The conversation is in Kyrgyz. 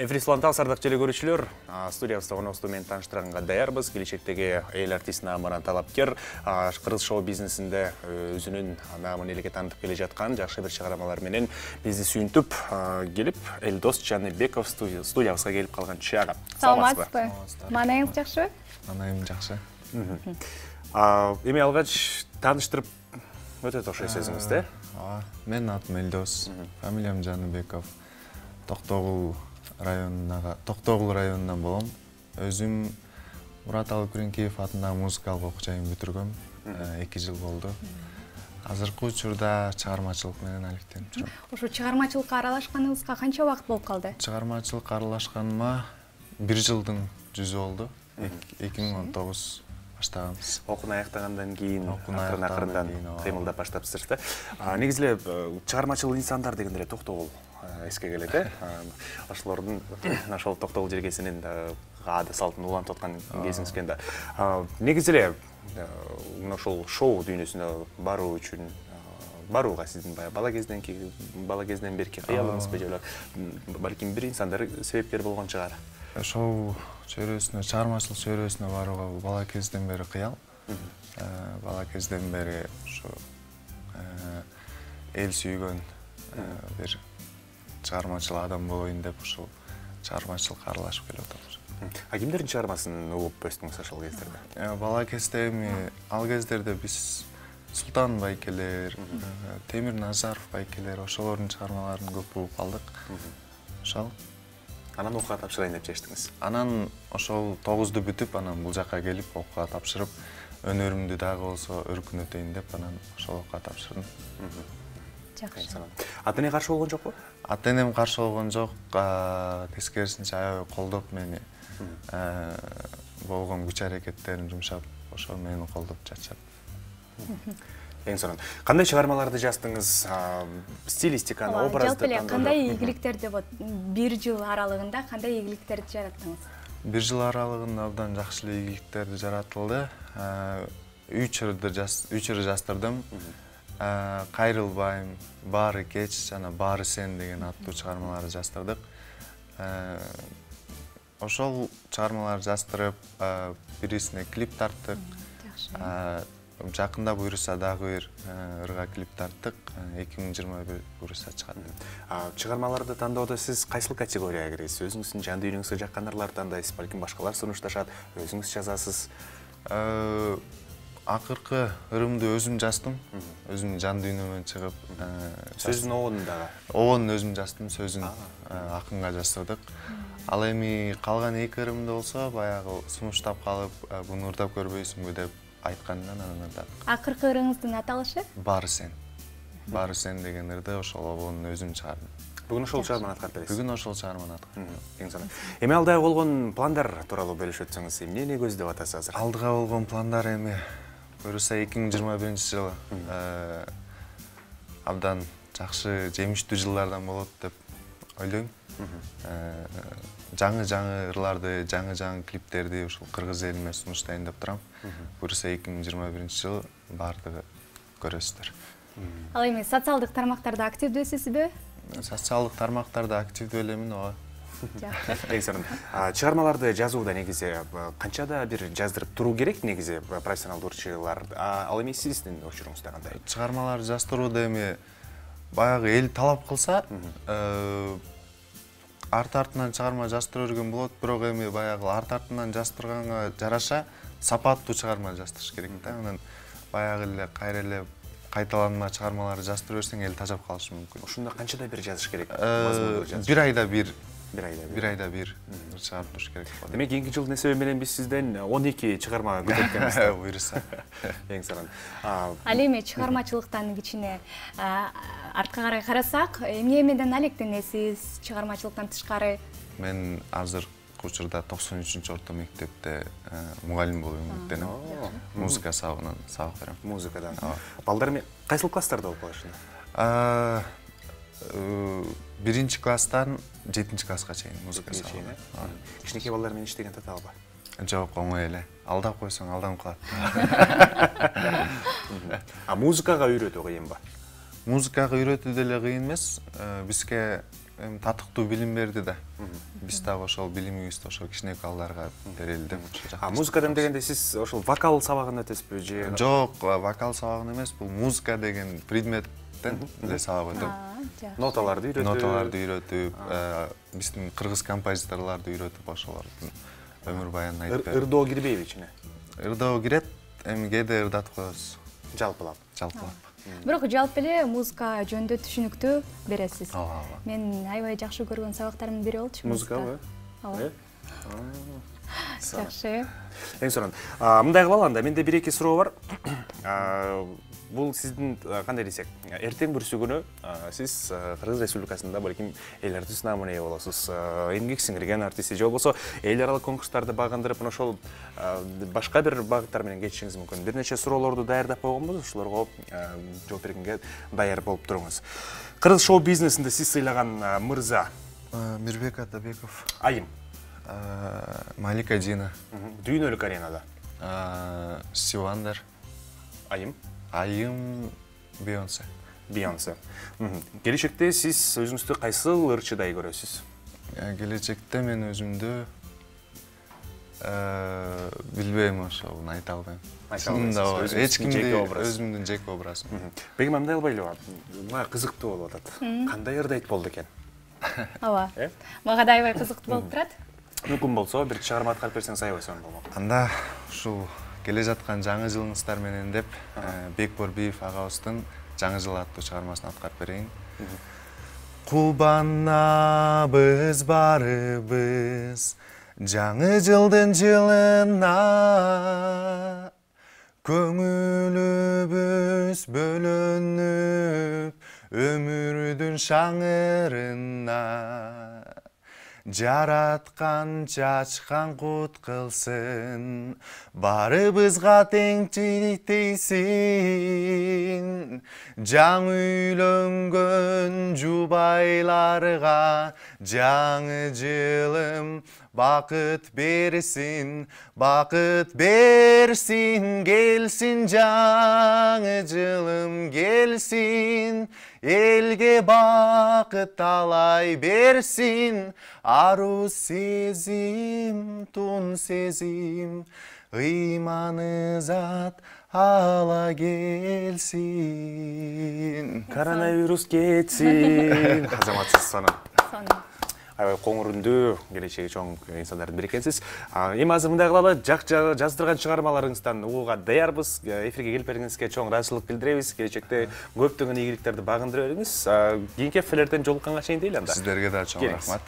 Эфирислантал сардак желе көрүүчүлөр, студиябызда конокубузду менен тааныштырганга даярбыз. Келечектеги эл артист наамына талапкер, кыргыз шоу бизнесинде өзүнүн наамын элге таанытып келе жаткан жакшы бир чыгармалар менен бизди сүйүнтүп келип, Элдос Жаныбеков студиябызга келип калган чагы. Саламатсызбы? Маанайыңыз жакшыбы? Маанайым жакшы. Эми алгач тааныштырып өтөт окшойт өзүңүз, да? Менин атым Элдос, фамилиям Жаныбеков. Токтогул районунан болом. Өзүм Мураталы Күреңкеев атындагы музыкалык окуу жайын бүтүргөм. 2 жыл болду. Азыркы учурда чыгармачылык менен алектенип жүрөм. Ошо чыгармачылыкка аралашканыңызга канча убакыт болуп калды? Чыгармачылыкка аралашканыма 1 жылдын жүзү болду. 2019 баштаганбыз. Окууну аяктагандан кийин акырын-акырындан кыймылдап баштапсыздар да. Негизи эле чыгармачыл инсандар дегенде эле Токтогул эске келет, ошолордун ошол Токтогул жергесинин аада салтын улантып аткан кезиңиз экен да. Негизи эле ошол шоу дүйнөсүнө баруу үчүн барууга сиздин бала кезден берки кыялыңызбы же балким бир инсандар себепкер болгон чыгар. Шоу чөйрөсүнө, чыгармачылык чөйрөсүнө барууга бала кезден бери кыял. Бала кезден бери ошо эл сүйгөн бир чыгармачыл адам болоюн деп ушул чыгармачылыкка аралашып келип атабыз. Кимдердин чыгармасын угуп өстүңүз ошол кездерде? Бала кезде эми ал кездерде биз Султан байкелер, Темир Назаров байкелер, ошолордун чыгармаларын көп угуп калдык. Ошол. Анан окууга тапшырайын деп чечтиңиз. Анан ошол 9-ду бүтүп, анан бул жакка келип окууга тапшырып, өнөрүмдү дагы болсо өркүнөтөйүн деп анан ошол окууга тапшырдым. Жакшы. Ата-эне каршы болгон жокпу? Ата-энем каршы болгон жок, тескерисинче аябай колдоп мени болгон күч аракеттерин жумшап, ошол мени колдоп жашап. Эң сонун. Кандай чыгармаларды жаздыңыз? Стилистиканы, образды жалпы эле кандай ийгиликтерди бир жыл аралыгында кандай ийгиликтерди жараттыңыз? 1 жыл аралыгында абдан жакшы эле ийгиликтерди жаратылды. 3 ырды жаздырдым. Кайрылбайм, Баары кеч жана Баары сен деген аттуу чыгармаларды жаздырдык. Ошол чыгармаларды жаздырып, бирисине клип тарттык. Жакында буюрса дагы бир ырга клип тарттык. 2021 буюрса чыгат. Чыгармаларды тандоодо сиз кайсыл категорияга киресиз? Өзүңүздүн жан дүйнөңүзгө жаккан ырларды тандайсыз, балким башкалар сунушташат, өзүңүз жазасыз. Акыркы ырымды өзүм жаздым. Өзүмдүн жан дүйнөмөн чыгып, сөзүн огонун дагы. Огонун өзүм жаздым, сөзүн акынга жаздырдык. Ал эми калган 2 ырымды болсо баягы сунуштап калып, буну ырдап көрбөйсүңбү деп айткандан анан ырдадым. Акыркы ырыңыздын аталышы? Баары сен. Баары сен деген ырды ошол огонун өзүм чыгардым. Бүгүн ошол чыгарманы аткарып бересиз. Бүгүн ошол чыгарманы аткарып. Эң сонун. Эми алдыга болгон пландар тууралуу бөлүшүп өтсөңүз, эмнени көздөп атасыз азыр? Алдыга болгон пландар эми буюрса 2021-жылы абдан жакшы жемиштүү жылдардан болот деп ойлойм. Жаңы ырларды, жаңы клиптерди ушул кыргыз элине сунуштайын деп турам. Буюрса 2021-жылы баардыгы көрөсүздөр. Ал эми социалдык тармактарда активдүүсүзбү? Социалдык тармактарда активдүү элемин, ооба. Эң сонун. Чыгармаларды жазууда негизи канчада бир жаздырып туруу керек негизи профессионалдуу ырчылар? Ал эми сиздин учуруңузда кандай? Чыгармаларды жаздырууда эми баягы эл талап кылса, арт-артынан чыгарма жаздыра берген болот, бирок эми баягы арт-артынан жаздырганга жараша сапаттуу чыгарма жаздырыш керек да. Анан баягы эле кайра эле кайталанма чыгармаларды жаздыра берсең эл тажап калышы мүмкүн. Ошондо канчада бир жазыш керек? 1 айда бир. 1 айда бир чыгарып туруш керек болот. Демек, кийинки жылдын эсеби менен биз сизден 12 чыгарма күтөт экенбиз. Буюрса. Эң сонун. Ал эми чыгармачылыктан кичине артка карай карасак, эмне менен алектенесиз чыгармачылыктан тышкары? Мен азыркы учурда 93-орто мектепте мугалим болуп эмгектенем. Музыка сабагынан сабак берем. Музыкадан. Балдар эми кайсыл класстарда окуп калышат? 1-чи класстан 7-чи класска чейин музыка сабагы. Кичинекей балдар менен иштеген татабы? Жок, оңой эле. Алдап койсоң алданып калат. Музыкага үйрөтүү кыйынбы? Музыкага үйрөтүү деле кыйын эмес. Бизге эми татыктуу билим берди да. Биз дагы ошол билимибизди ошол кичинекей балдарга берели деп ошо. Музыкадан дегенде сиз ошол вокал сабагын өтөсүзбү же? Жок, вокал сабагын эмес, бул музыка деген предметтен эле сабак өтөм. Ноталарды үйрөтүп. Ноталарды үйрөтүп, биздин кыргыз композиторлорду үйрөтүп ошолордун өмүр баянын айтып берип. Ырдоо кирбейби ичине? Ырдоо кирет, эми кээде ырдатып коебуз. Жалпылап. Бирок жалпы эле музыка жөнүндө түшүнүктүү бересиз. Ооба. Мен аябай жакшы көргөн сабактарымдын бири болчу Музыкабы? Ооба. Жакшы. Эң сонун. Мындай кылалы анда, менде 1-2 суроо бар. Бул сиздин кандай десек, эртең бүрсүгүнө сиз Кыргыз Республикасында балким эл артист наамына ээ болосуз. Эмгек сиңирген артист же болбосо эл аралык конкурстарды багындырып, ошол башка бир багыттар менен кетишиңиз мүмкүн. Бир нече суроолорду даярдап койгонбуз, ошолорго жооп бергенге даяр болуп туруңуз. Кыргыз шоу бизнесинде сиз сыйлаган мырза? Мирбек Атабеков. Айым? Малика Дина. Дүйнөлүк аренада? Сивандер. Айым? Айым Бейонсе. Бейонсе. Келечекте сиз өзүңүздү кайсыл ырчыдай көрөсүз? Келечекте мен өзүмдү билбейм, ошону айта албайм. Эч кимди өзүмдүн жеке образым. Бегим мындай албайлыбы? Мага кызыктуу болуп атат. Кандай ырдайт болду экен? Ооба. Мага да аябай кызыктуу болуп турат. Мүмкүн болсо бир чыгарма аткарып берсеңиз аябай сонун болмок. Анда ушул келе жаткан жаңы жылыңыздар менен деп Бекбор Биев агабыздын жаңы жыл аттуу чыгармасын аткарып берейин. Кубанабыз барыбыз жаңы жылдын жылына, көңүлүбүз бөлөнүп өмүрдүн шаңырына. Жараткан чачкан кут кылсын, барыбызга теңчилик тийсин. Жаңы үйлөнгөн жубайларга жаңы жылым бакыт берсин, келсин жаңы жылым келсин. Элге бакыт талай берсин, ару сезим, тун сезим, ыйманы зат ала келсин. Коронавирус кетсин. Азаматсыз сонун. Аябай коңур үндүү, келечеги чоң инсандардын бири экенсиз. Эми азыр мындай кылалы, жаздырган чыгармаларыңыздан угууга даярбыз. Эфирге келип бергениңизге чоң ыраазычылык билдиребиз. Келечекте көптөгөн ийгиликтерди багындыра бериңиз. Кийинки эфирлерден жолукканга чейин дейли анда. Сиздерге да чоң рахмат.